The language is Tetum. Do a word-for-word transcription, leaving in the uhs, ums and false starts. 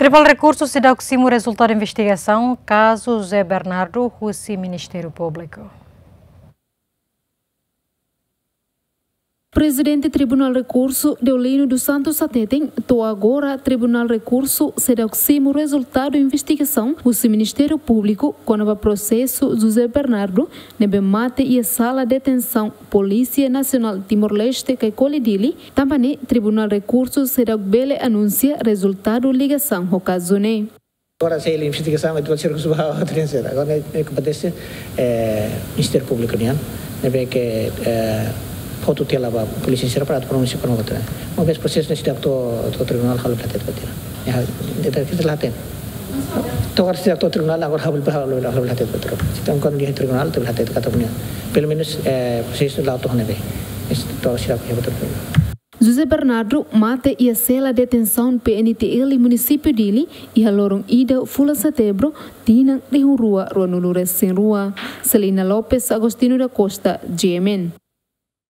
Tribunál Rekursu seidauk simu rezultadu investigasaun kazu José Bernardo husi Ministériu Públiku. Prezidente Tribunál Rekursu, Deolino dos Santos hateten, to'o agora Tribunál Rekursu seidauk simu rezultadu investigasaun husi Ministériu Públiku kona-ba prosesu José Bernardo ne'ebé mate iha sala detensaun Polísia Nasionál Timor-Leste Caicoli Dili. Tanba ne'e Tribunál Rekursu seidauk bele anunsia rezultadu ligasaun ho kazu ne'e. Agora sei investigasaun, ita sei rekursu ba audiénsia. Agora ne'e kompetente, eh, Ministériu Públiku nian, ne'ebé ke, eh, fó tutela ba polísia sira para pronunsia kona-ba. Uma vez prosesu ne'e seidauk to'o, to'o tribunál, ha'u la hatene ba tiha. Ya, ita, ita la hatene. To'o agora seidauk to'o tribunál, agora ha'u la, ha'u la, ha'u la hatene ba tiha. Entaun, kuandu iha tribunál, ita la hatene katak nian. Pelumenus, eh, prosesu la'o to'o ne'ebé. Entaun, seidauk iha ba tribunál. José Bernardo mate iha sela detensaun P N T L Munisípiu Dili iha loron ida fulan Setembru, tinan rihun rua ruanulu-resin-rua. Celina Lopes, Agostinho da Costa, G M N.